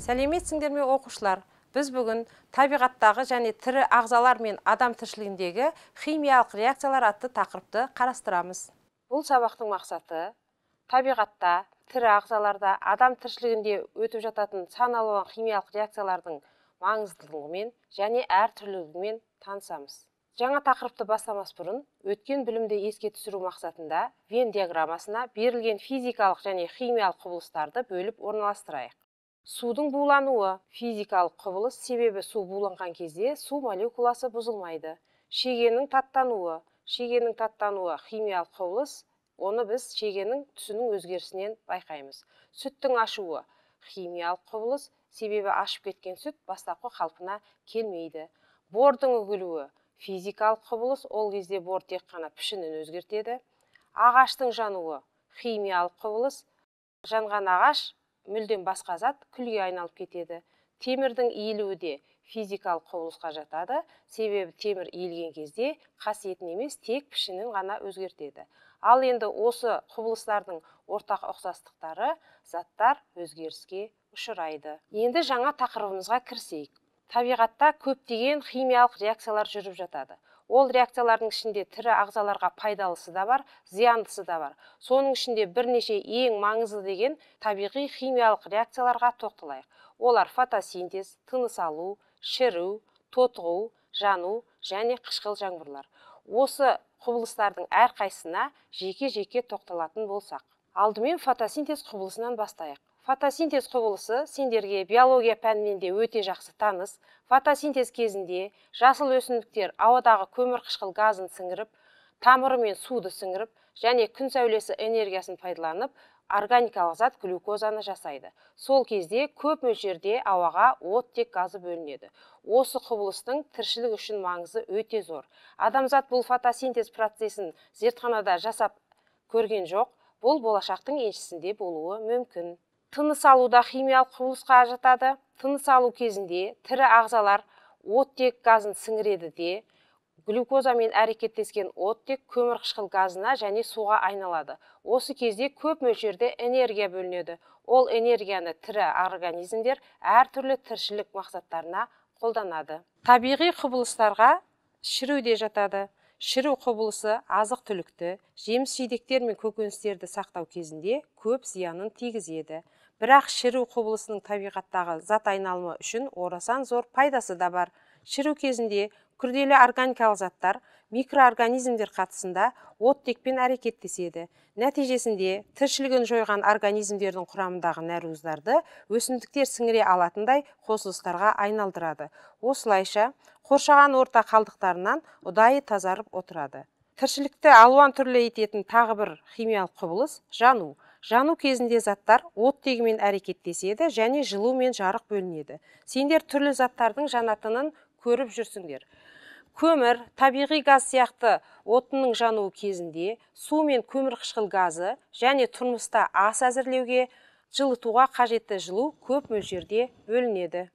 Сәлеметсіңдер ме оқушылар? Біз бүгін табиғаттағы және тірі ағзалар мен адам тіршілігіндегі химиялық реакциялар атты тақырыпты қарастырамыз. Бұл сабақтың мақсаты табиғатта, тірі ағзаларда, адам тіршілігінде өтіп жататын сан алуан химиялық реакциялардың маңыздылығымен және әртүрлілігімен танысамыз. Жаңа тақырыпты бастамас бұрын, өткен білімді еске түсіру мақсатында Вен диаграммасына берілген физикалық және химиялық құбылыстарды бөліп орналастырайық. Судың булануы физикалық құбылыс, себебі су буланған кезде су молекуласы бұзылмайды. Шегенің таттануы химиялық құбылыс, оны біз шегенің түсінің өзгерісінен байқаймыз. Сүттің ашуы химиялық құбылыс, себебі ашып кеткен сүт бастапқы қалпына келмейді. Бордың үгілуі физикалық құбылыс, ол кезде бор тек қана пішінін өзгертеді. Ағаштың жануы химиялық құбылыс, жанған ағаш мүлдем басқа зат күлге айналып кетеді. Темірдің иілуі де физикалық құбылысқа жатады, себебі темір иілген кезде қасиетін емес, тек пішінін ғана өзгертеді. Ал енді осы құбылыстардың ортақ ұқсастықтары заттар өзгеріске ұшырайды. Енді жаңа тақырыбымызға кірісейік. Табиғатта көптеген химиялық реакциялар жүріп жатады. Ол реакциялардың ішінде тірі ағзаларға пайдалысы да бар, зияндысы да бар. Соның ішінде бірнеше ең маңызды деген табиғи химиялық реакцияларға тоқталайық. Олар фотосинтез, тыныс алу, шіру, тотығу, жану және қышқыл жаңбырлар. Осы құбылыстардың әрқайсысына жеке-жеке тоқталатын болсақ. Алдымен фотосинтез құбылысынан бастайық. Фотосинтез құбылысы сендерге биология пәнінен де өте жақсы таныс. Фотосинтез кезінде жасыл өсімдіктер ауадағы көмір қышқыл газын сіңіріп, тамырымен суды сіңіріп, және күн сәулесі энергиясын пайдаланып, органикалық зат глюкозаны жасайды. Сол кезде көп мөлшерде ауаға оттек газы бөлінеді. Осы құбылыстың тіршілік үшін маңызы өте зор. Адамзат бұл фотосинтез процесін зертханада жасап көрген жоқ. Бұл болашақтың еншісінде болуы мүмкін. Тыныс алуда химиялық құбылысқа жатады. Тыныс алу кезінде тірі ағзалар оттек газын сіңіреді де, глюкозамен әрекеттескен оттек көмір қышқыл газына және суға айналады. Осы кезде көп мөлшерде энергия бөлінеді. Ол энергияны тірі организмдер әртүрлі тіршілік мақсаттарына қолданады. Табиғи құбылыстарға шіру де жатады. Шіру құбылысы азық-түлікті, жеміс-жидектер мен көкөністерді сақтау кезінде көп зиянын тигізеді. Бірақ шіру құбылысының табиғаттағы зат айналымы үшін орасан зор пайдасы да бар. Шіру кезінде күрделі органикалық заттар микроорганизмдер қатысында оттекпен әрекеттеседі. Нәтижесінде тіршілігін жойған организмдердің құрамындағы нәруыздарды өсімдіктер сіңіре алатындай қосылыстарға айналдырады. Осылайша қоршаған орта қалдықтарынан ұдайы тазарып отырады. Тіршілікті алуан түрлі ететін тағы бір химиялық құбылыс жану. Жану кезінде заттар оттегімен әрекеттеседі және жылу мен жарық бөлінеді. Сендер түрлі заттардың жанатынын көріп жүрсіңдер. Көмір, табиғи газ сияқты отынның жануы кезінде су мен көмір қышқыл газы және тұрмыста ас әзірлеуге, жылытуға қажетті жылу көп мөлшерде бөлінеді.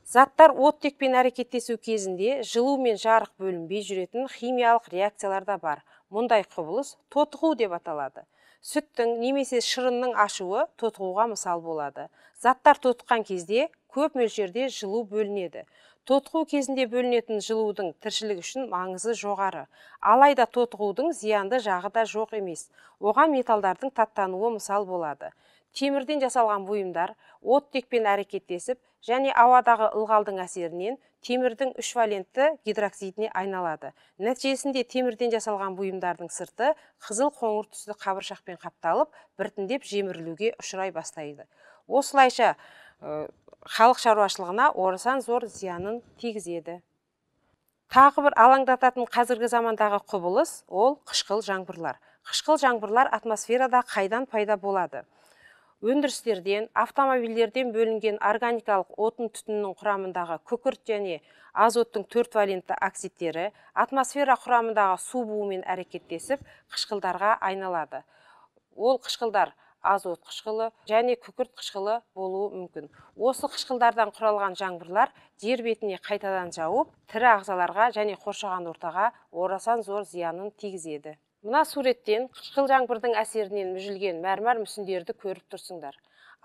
Заттар оттекпен әрекеттесу кезінде жылу мен жарық бөлінбей жүретін химиялық реакциялар да бар. Мұндай құбылыс тотығу деп аталады. Сүттің немесе шырынның ашуы тотығуға мысал болады. Заттар тотыққан кезде көп мөлшерде жылу бөлінеді. Тотығу кезінде бөлінетін жылудың тіршілік үшін маңызы жоғары. Алайда тотығудың зиянды жағы да жоқ емес. Оған металдардың таттануы мысал болады. Темірден жасалған бұйымдар оттекпен әрекеттесіп және ауадағы ылғалдың әсерінен темірдің 3 валентті гидроксидіне айналады. Нәтижесінде темірден жасалған бұйымдардың сырты қызыл қоңыр түсті қабыршақпен қапталып, біртіндеп жемірілуге ұшырай бастайды. Осылайша халық шаруашылығына орасан зор зиянын тигізеді. Тағы бір алаңдататын қазіргі замандағы құбылыс ол қышқыл жаңбырлар. Қышқыл жаңбырлар атмосферада қайдан пайда болады? Өндірістерден, автомобильдерден бөлінген органикалық отын түтінінің құрамындағы күкірт және азоттың 4 валентті оксидтері атмосфера құрамындағы су буымен әрекеттесіп, қышқылдарға айналады. Ол қышқылдар азот қышқылы және күкірт қышқылы болуы мүмкін. Осы қышқылдардан құралған жаңбырлар жер бетіне қайтадан жауып, тірі ағзаларға және қоршаған ортаға орасан зор зиянын тигізеді. Мына суреттен қышқыл жаңбырдың әсерінен мүжілген мәрмәр мүсіндерді көріп тұрсыңдар.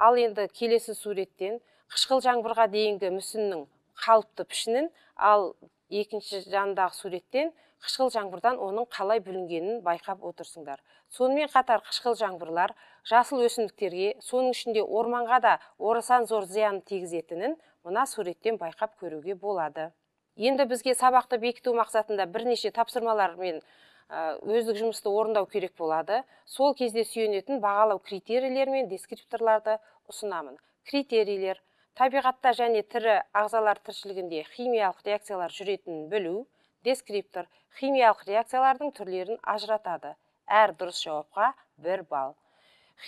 Ал енді келесі суреттен қышқыл жаңбырға дейінгі мүсіннің қалыпты пішінін, ал екінші жандағы суреттен қышқыл жаңбырдан оның қалай бүлінгенін байқап отырсыңдар. Сонымен қатар қышқыл жаңбырлар жасыл өсімдіктерге, соның ішінде орманға да орасан зор зиян тигізетінін мына суреттен байқап көруге болады. Енді бізге сабақты бекіту мақсатында бірнеше тапсырмалар мен өздік жұмысты орындау керек болады. Сол кезде сүйенетін бағалау критерийлер мен дескрипторларды ұсынамын. Критерийлер: табиғатта және тірі ағзалар тіршілігінде химиялық реакциялар жүретінін білу. Дескриптор: химиялық реакциялардың түрлерін ажыратады. Әр дұрыс жауапқа 1 балл.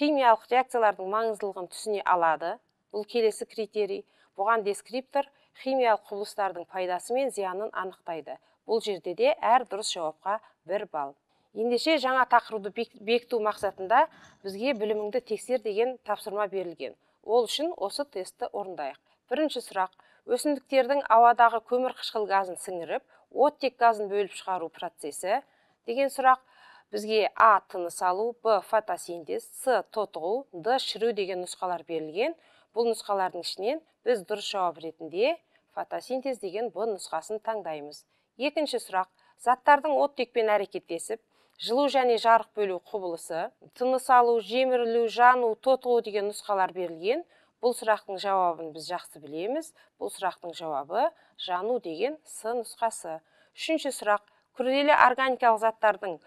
Химиялық реакциялардың маңыздылығын түсіне алады. Бұл келесі критерий. Бұған дескриптор химиялық құбылыстардың пайдасы мен зиянын анықтайды. Бұл жерде де әр дұрыс жауапқа 1 балл. Ендеше жаңа тақырыпты бекіту мақсатында бізге біліміңді тексер деген тапсырма берілген. Ол үшін осы тестті орындайық. Бірінші сұрақ: өсімдіктердің ауадағы көмір қышқыл газын сіңіріп, оттек газын бөліп шығару процесі деген сұрақ. Бізге А. тыныс алу, Б. фотосинтез, С. тотығу, Д. шіру деген нұсқалар берілген. Бұл нұсқалардың ішінен біз дұрыс жауап ретінде фотосинтез деген Б нұсқасын таңдаймыз. Екінші сұрақ: заттардың оттекпен әрекеттесіп, жылу және жарық бөлу құбылысы, тыныс алу, жемірілу, жану, тотығу деген нұсқалар берілген. Бұл сұрақтың жауабын біз жақсы білеміз. Бұл сұрақтың жауабы жану деген С нұсқасы. Үшінші сұрақ: күрделі органикалық заттардың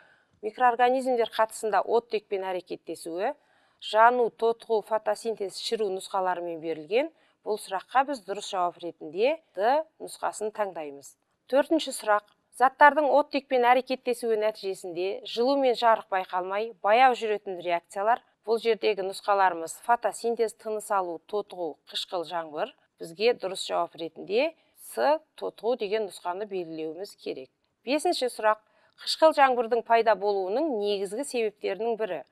микроорганизмдер қатысында оттекпен әрекеттесуі, жану, тотығу, фотосинтез, шіру нұсқаларымен берілген. Бұл сұраққа біз дұрыс жауап ретінде Д нұсқасын таңдаймыз. Төртінші сұрақ: заттардың оттекпен әрекеттесуі нәтижесінде жылу мен жарық байқалмай, баяу жүретін реакциялар. Бұл жердегі нұсқаларымыз фотосинтез, тыныс алу, тотығу, қышқыл жаңбыр. Бізге дұрыс жауап ретінде С тотығу деген нұсқаны белгілеуіміз керек. Бесінші сұрақ: қышқыл жаңбырдың пайда болуының негізгі себептерінің бірі: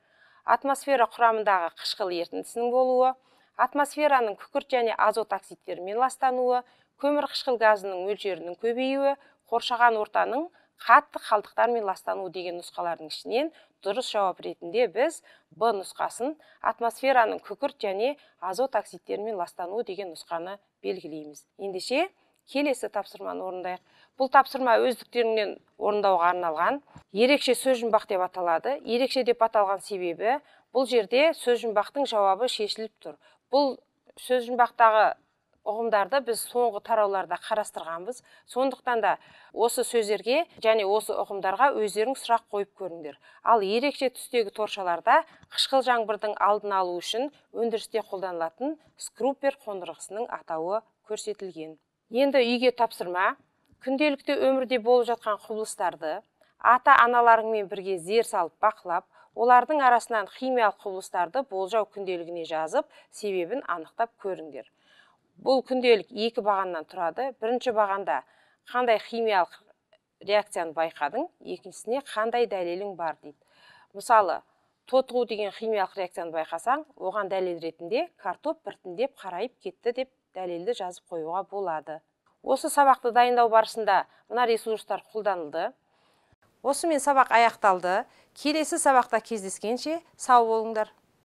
атмосфера құрамындағы қышқыл ерітіндісінің болуы, атмосфераның күкірт және азот оксидтерімен ластануы, көмір қышқыл газының мөлшерінің көбеюі, қоршаған ортаның қатты қалдықтармен ластануы деген нұсқалардың ішінен дұрыс жауап ретінде біз Б нұсқасын, атмосфераның күкірт және азот оксидтерімен ластануы деген нұсқаны белгілейміз. Ендеше келесі тапсырманы орындайық. Бұл тапсырма өздіктеріңнен орындауға арналған. Ерекше сөз жұмбақ деп аталады. Ерекше деп аталған себебі, бұл жерде сөз жұмбақтың жауабы шешіліп тұр. Бұл сөз жұмбақтағы ұғымдарды біз соңғы тарауларда қарастырғанбыз. Сондықтан да осы сөздерге және осы ұғымдарға өздерің сұрақ қойып көріңдер. Ал ерекше түстегі торшаларда қышқыл жаңбырдың алдын алу үшін өндірісте қолданылатын скруппер қондырғысының атауы көрсетілген. Енді үйге тапсырма: күнделікті өмірде болып жатқан құбылыстарды ата-аналарыңмен бірге зер салып бақылап, олардың арасынан химиялық құбылыстарды болжау күнделігіне жазып, себебін анықтап көріңдер. Бұл күнделік 2 бағаннан тұрады. Бірінші бағанда қандай химиялық реакцияны байқадың, екіншісіне қандай дәлелің бар дейді. Мысалы, тотығу деген химиялық реакцияны байқасаң, оған дәлел ретінде картоп біртіндеп қарайып кетті деп дәлелді жазып қоюға болады. Осы сабақты дайындау барысында мына ресурстар қолданылды. Осымен сабақ аяқталды. Келесі сабақта кездескенше сау болыңдар.